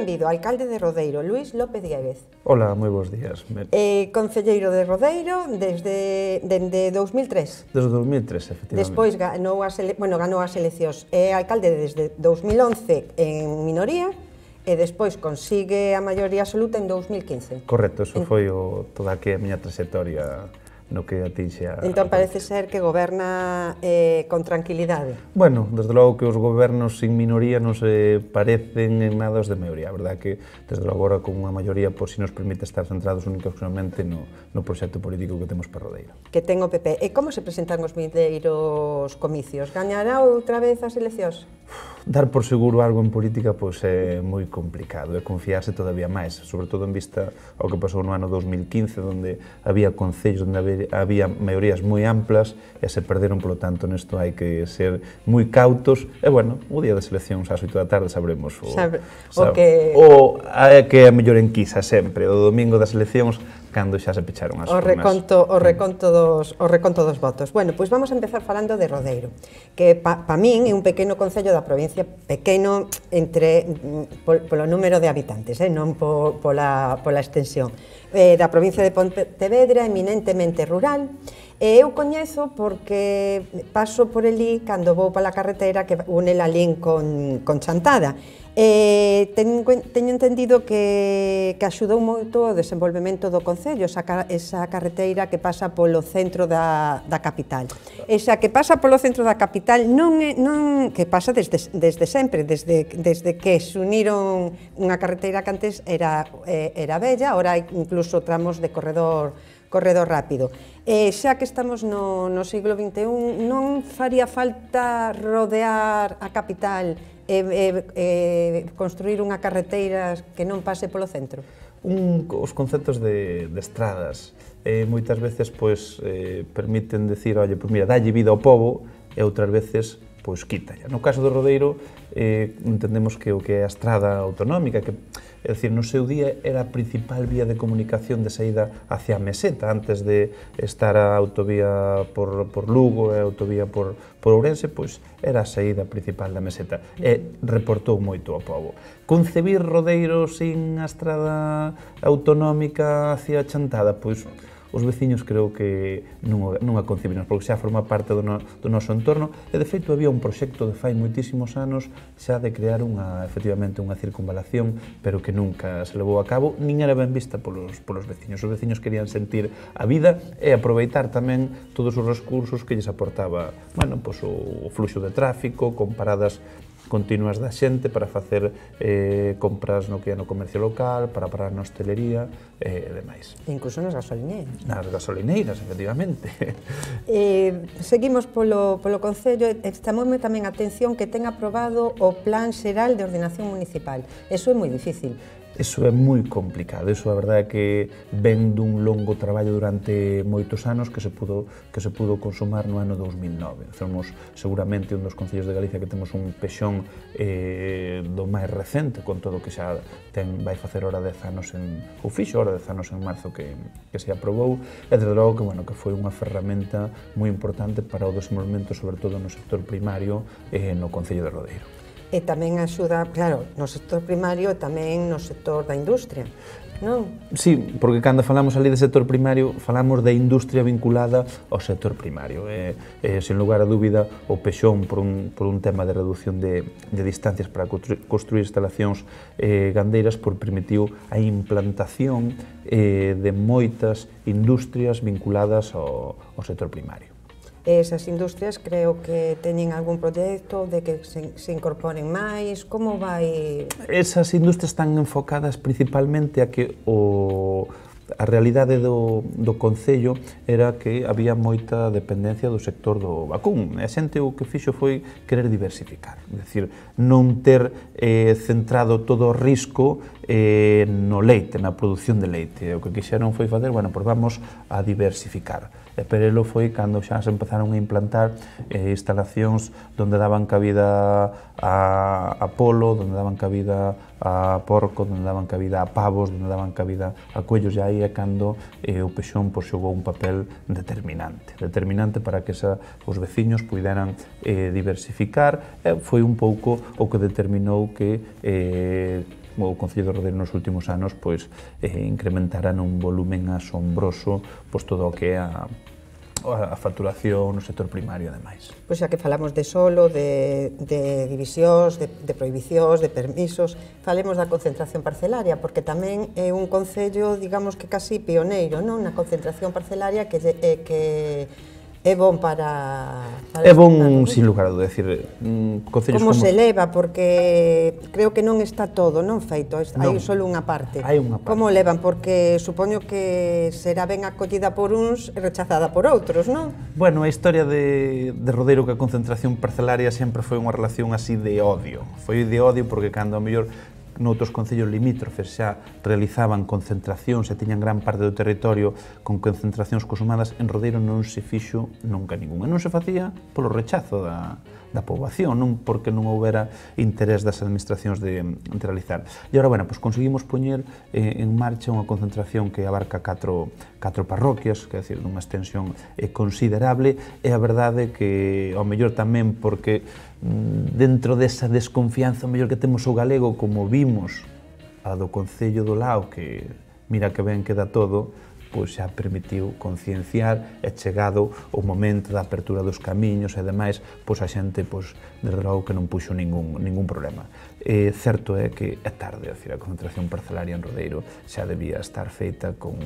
benvido, alcalde de Rodeiro, Luís López Dieguez. Hola, moi bons días. Concelleiro de Rodeiro desde 2003. Desde 2003, efectivamente. Despois ganou as eleccións. É alcalde desde 2011 en minoría e despois consigue a maioría absoluta en 2015. Correcto, eso foi toda a miña trayectoria no que atinxe a... Entón parece ser que goberna con tranquilidade. Bueno, desde logo que os gobernos sin minoría non se parecen en nada aos de maioría. A verdade que, desde logo, agora con unha maioría, pois si nos permite estar centrados únicamente no proxecto político que temos para Rodeiro. Que ten o PP. E como se presentan os vindeiros comicios? Gañará outra vez as eleccións? Dar por seguro algo en política pois é moi complicado, e confiarse todavía máis, sobre todo en vista ao que pasou no ano 2015, onde había concellos onde había maiorías moi amplas e se perderon, polo tanto, nesto hai que ser moi cautos, e, bueno, o día das eleccións ás 8 da tarde sabremos o que é a mellor enquisa sempre, o domingo das eleccións, cando xa se pecharon as urnas. O reconto dos votos. Bueno, pois vamos a empezar falando de Rodeiro, que pa min é un pequeno concello da provincia, pequeno polo número de habitantes, non pola extensión, da provincia de Pontevedra, eminentemente rural. Eu coñezo porque paso por elí cando vou pola carretera que une Lalín con Chantada. Teño entendido que axudou moito o desenvolvemento do concello, esa carreteira que pasa polo centro da capital. Esa que pasa polo centro da capital que pasa desde sempre, desde que se uniron unha carreteira que antes era bella, agora hai incluso tramos de corredor rápido. Xa que estamos no siglo XXI, non faría falta rodear a capital construir unha carreteira que non pase polo centro? Os conceptos de estradas moitas veces permiten decir, oye, pois mira, dalle vida ao pobo, e outras veces pois quítalla. No caso do Rodeiro entendemos que o que é a estrada autonómica, que é dicir, no seu día era a principal vía de comunicación de saída hacia a meseta, antes de estar a autovía por Lugo e a autovía por Ourense, pois era a saída principal da meseta, e reportou moito ao pobo. Concebir Rodeiro sin a estrada autonómica hacia Chantada, pois os veciños creo que non a concibimos, porque xa forma parte do noso entorno, e de feito había un proxecto de fai moitísimos anos xa de crear efectivamente unha circunvalación, pero que nunca se levou a cabo, nin era ben vista polos veciños. Os veciños querían sentir a vida e aproveitar tamén todos os recursos que lles aportaba, bueno, pois o fluxo de tráfico, con paradas continuas da xente para facer compras no que é no comercio local, para parar na hostelería e demais. Incluso nas gasolineiras. Nas gasolineiras, efectivamente. Seguimos polo Concello, chamoume tamén a atención que ten aprobado o Plan Xeral de Ordenación Municipal. Eso é moi difícil. Eso é moi complicado, eso a verdade é que ven dun longo traballo durante moitos anos que se pudo consumar no ano 2009. Somos seguramente un dos concellos de Galicia que temos un pexón do máis recente, con todo o que xa vai facer ora 10 anos ou fixo ora 10 anos en marzo que se aprobou, e desde logo que foi unha ferramenta moi importante para o desenvolvemento, sobre todo no sector primario no concello de Rodeiro. E tamén axuda, claro, no sector primario e tamén no sector da industria, non? Sí, porque cando falamos ali de sector primario, falamos de industria vinculada ao sector primario. Sen lugar a dúbida, o pexón por un tema de reducción de distancias para construir instalacións gandeiras, permitiu a implantación de moitas industrias vinculadas ao sector primario. Esas industrias creo que teñen algún proxecto de que se incorporen máis, como vai? Esas industrias están enfocadas principalmente a que a realidade do concello era que había moita dependencia do sector do vacún, e a xente o que fixo foi querer diversificar, é dicir, non ter centrado todo o risco no leite, na produción de leite. O que quixeron foi facer, bueno, pois vamos a diversificar. E Perelo foi cando xa se empezaron a implantar instalacións onde daban cabida a polo, onde daban cabida a porco, onde daban cabida a pavos, onde daban cabida a coellos, e aí é cando o pexón xogou un papel determinante para que os veciños puideran diversificar, e foi un pouco o que determinou que o Concello de Rodeiro nos últimos anos pois incrementará nun volumen asombroso pois todo o que é a facturación no sector primario, ademais. Pois xa que falamos de solo, de divisións, de prohibicións, de permisos, falemos da concentración parcelaria, porque tamén é un concello, digamos que casi pioneiro, non? Na concentración parcelaria que é bon para é bon, sin lugar a dúda, decir, concellos como se leva, porque creo que non está todo, non feito, hai só unha parte. Hai unha parte. Como levan? Porque supoño que será ben acollida por uns e rechazada por outros, non? Bueno, a historia de Rodeiro que a concentración parcelaria sempre foi unha relación así de odio. Foi de odio porque cando a mellor noutros concellos limítrofes xa realizaban concentracións e tiñan gran parte do territorio con concentracións consumadas, en Rodeiro non se fixo nunca ninguna. Non se facía polo rechazo da poboación, non porque non houbera interés das administracións de realizar. E agora, bueno, pues conseguimos poñer en marcha unha concentración que abarca 4 parroquias, que é dicir, dunha extensión considerable, e a verdade que, ao mellor tamén porque dentro desa desconfianza, ao mellor que temos o galego, como vimos a do Concello do Lao, que mira que ben queda todo, pois xa permitiu concienciar e chegado o momento da apertura dos camiños e demais, pois a xente, pois, desde logo que non puxo ningún problema. Certo é que é tarde, a concentración parcelaria en Rodeiro xa debía estar feita con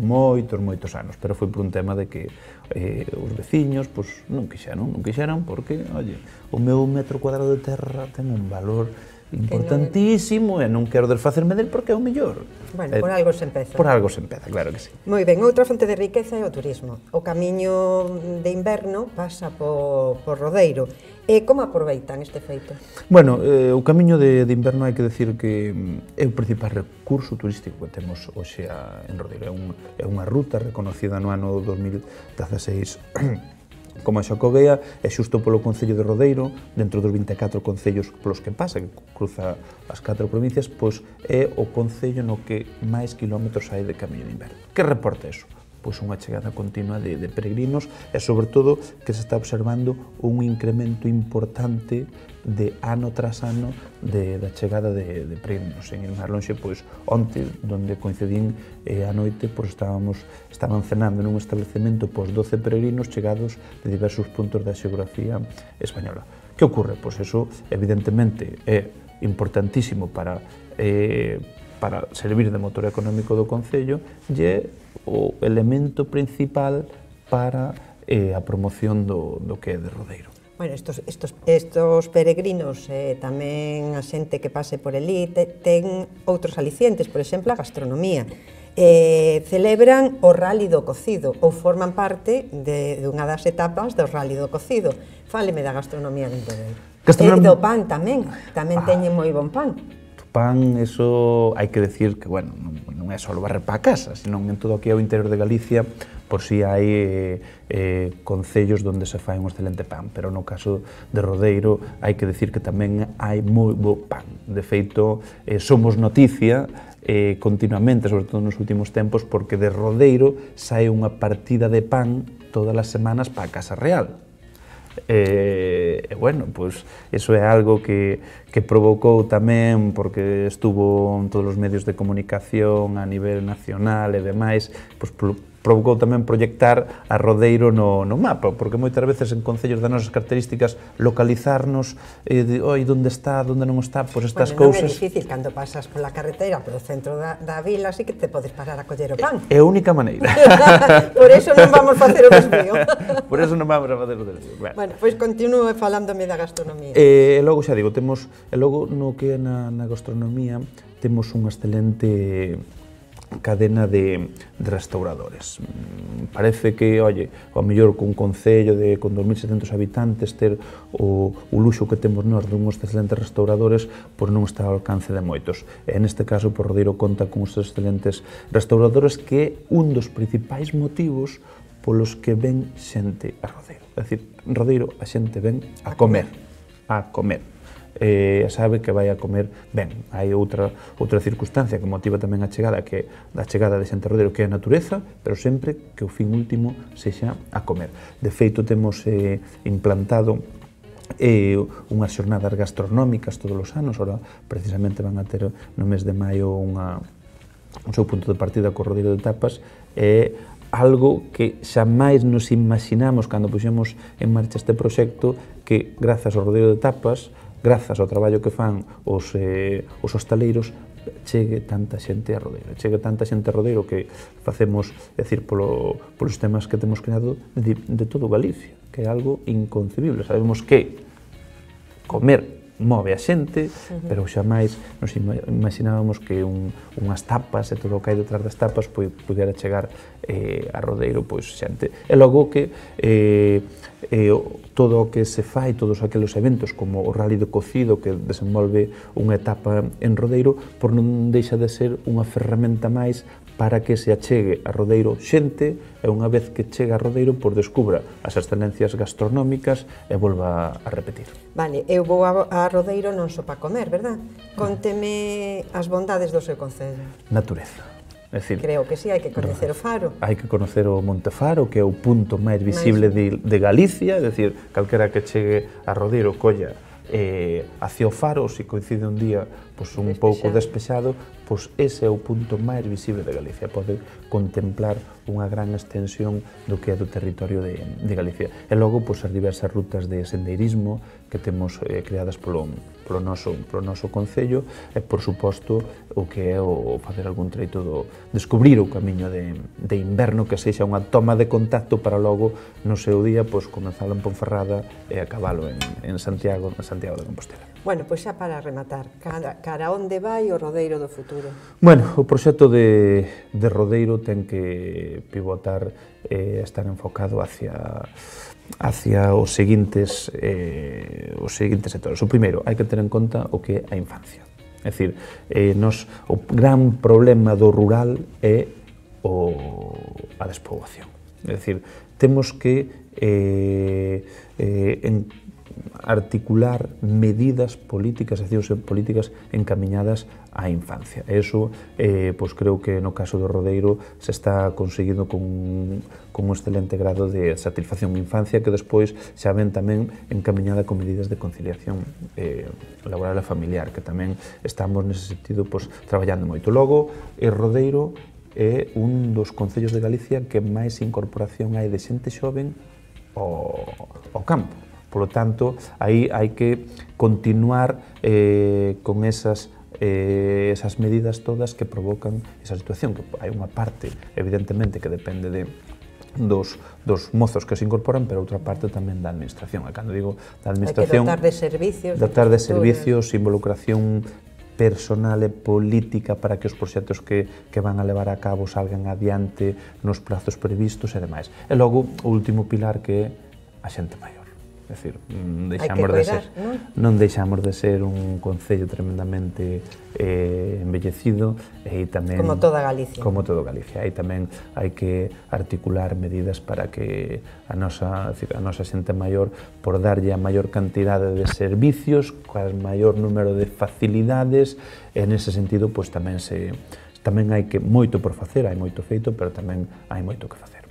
moitos anos, pero foi por un tema de que os veciños, pois, non quixeron porque, oye, o meu metro cuadrado de terra ten un valor importantísimo e non quero desfacerme del porque é o mellor. Bueno, por algo se empeza. Por algo se empeza, claro que sí. Moi ben, outra fonte de riqueza é o turismo. O camiño de inverno pasa por Rodeiro. E como aproveitan este feito? Bueno, o camiño de inverno hai que decir que é o principal recurso turístico que temos hoxe en Rodeiro. É unha ruta reconocida no ano 2016 como a Xacobea, é xusto polo Concello de Rodeiro, dentro dos 24 concellos polos que pasa, que cruza as 4 provincias, pois é o concello no que máis kilómetros hai de camiño de inverno. Que reporta iso? Pois unha chegada continua de peregrinos e, sobre todo, que se está observando un incremento importante de ano tras ano da chegada de peregrinos. En ir máis lonxe, pois, onte, onde coincidín a noite, pois estaban cenando nun establecemento pois 12 peregrinos chegados de diversos puntos da xeografía española. Que ocorre? Pois eso, evidentemente, é importantísimo para servir de motor económico do Concello e é o elemento principal para a promoción do que é de Rodeiro. Bueno, estos peregrinos, tamén a xente que pase por elí, ten outros alicientes, por exemplo, a gastronomía. Celebran o Rally do Cocido, ou forman parte dunha das etapas do Rally do Cocido. Fáleme da gastronomía de Rodeiro. E do pan tamén teñen moi bon pan. Pan, eso hai que decir que, bueno, non é só barrer para a casa, senón en todo o que é o interior de Galicia, por si hai concellos onde se fai un excelente pan, pero no caso de Rodeiro hai que decir que tamén hai moi bo pan. De feito, somos noticia continuamente, sobre todo nos últimos tempos, porque de Rodeiro sae unha partida de pan todas as semanas para a Casa Real. Bueno, pois iso é algo que provocou tamén, porque estuvo en todos os medios de comunicación a nivel nacional e demais, pois provocou tamén proyectar a Rodeiro no mapa, porque moitas veces en concellos das nosas características localizarnos oi, onde está, onde non está, pois estas cousas... Non é difícil, cando pasas pola carretera polo centro da vila, así que te podes parar a coller o pan. É a única maneira. Por eso non vamos facer o desvío. Por eso non vamos a facer o desvío. Bueno, pois continúe falándome da gastronomía. E logo xa digo, logo no que é na gastronomía, temos unha excelente cadena de restauradores. Parece que, oye, ao mellor cun concello con 2.700 habitantes ter o luxo que temos nós dunhos excelentes restauradores, pois non está ao alcance de moitos. E neste caso, por Rodeiro conta con uns excelentes restauradores que é un dos principais motivos polos que ven xente a Rodeiro. É dicir, en Rodeiro a xente ven a comer. Sabe que vai a comer ben. Hai outra circunstancia que motiva tamén a chegada, que a chegada de xente a Rodeiro, que é a natureza, pero sempre que o fin último sexa a comer. De feito, temos implantado unhas xornadas gastronómicas todos os anos. Ora, precisamente van a ter no mes de maio un seu punto de partida co Rodeiro de Tapas. É algo que xamais nos imaginamos cando puxemos en marcha este proxecto, que grazas ao Rodeiro de Tapas, grazas ao traballo que fan os hostaleiros, chegue tanta xente a Rodeiro. Chegue tanta xente a Rodeiro que facemos, é dicir, polos temas que temos creado de todo Galicia, que é algo inconcebible. Sabemos que comer move a xente, pero xamais nos imaginábamos que unhas tapas e todo o que hai detrás das tapas pudera chegar a Rodeiro xente. E logo que todo o que se fai, todos aqueles eventos como o Rally de Cocido que desenvolve unha etapa en Rodeiro, por non deixa de ser unha ferramenta máis para que se achegue a Rodeiro xente, e unha vez que chega a Rodeiro, descubra as excelencias gastronómicas e volva a repetir. Vale, eu vou a Rodeiro non só para comer, verdad? Conteme as bondades do seu concello. Natureza. Creo que sí, hai que conocer o Faro. Hai que conocer o Monte Faro, que é o punto máis visible de Galicia, é dicir, calquera que chegue a Rodeiro colla hacia o Faro, se coincide un día un pouco despexado, ese é o punto máis visible de Galicia. Pode contemplar unha gran extensión do que é do territorio de Galicia. E logo, as diversas rutas de sendeirismo que temos creadas polo noso concello, e, por suposto, o que é o facer algún treito descubrir o camiño de inverno, que sexa unha toma de contacto para logo, no seu día, comenzalo en Ponferrada e acabalo en Santiago de Compostela. Bueno, pois xa para rematar, cara onde vai o Rodeiro do futuro? Bueno, o proxecto de Rodeiro ten que pivotar e estar enfocado hacia os seguintes sectores. O primeiro, hai que ter en conta o que é a infancia. É dicir, o gran problema do rural é a despoboación. É dicir, temos que articular medidas políticas, accións políticas encamiñadas á infancia. E iso, creo que no caso do Rodeiro se está conseguindo con un excelente grado de satisfacción en infancia, que despois xa ven tamén encamiñada con medidas de conciliación laboral e familiar, que tamén estamos nese sentido traballando moito. Logo, Rodeiro é un dos concellos de Galicia que máis incorporación hai de xente xoven ao campo. Por lo tanto, aí hai que continuar con esas medidas todas que provocan esa situación, que hai unha parte, evidentemente, que depende dos mozos que se incorporan, pero outra parte tamén da administración. E cando digo da administración, hai que dotar de servicios, involucración personal e política para que os proxectos que van a levar a cabo salgan adiante nos prazos previstos e demais. E logo, o último pilar, que é a xente maior. É dicir, non deixamos de ser un concello tremendamente embellecido, e tamén, como toda Galicia. Como todo Galicia. Aí tamén hai que articular medidas para que a nosa xente maior, por darlle a maior cantidade de servicios, coa maior número de facilidades, e nese sentido tamén hai moito por facer, hai moito feito, pero tamén hai moito que facer.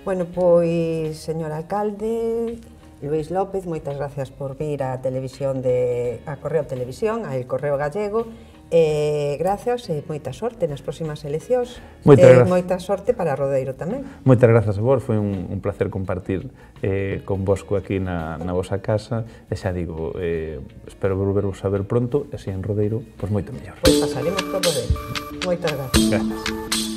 Bueno, pois, señor alcalde Luís López, moitas gracias por vir á televisión a Correo Televisión, a El Correo Gallego, Grazas e moita sorte nas próximas eleccións. Moita sorte para Rodeiro tamén. Moitas grazas a vos, foi un placer compartir convosco aquí na vosa casa, e xa digo, espero volvervos a ver pronto, e se en Rodeiro, pois moito mellor. Pois pasaremos por Rodeiro. Moitas grazas. Grazas.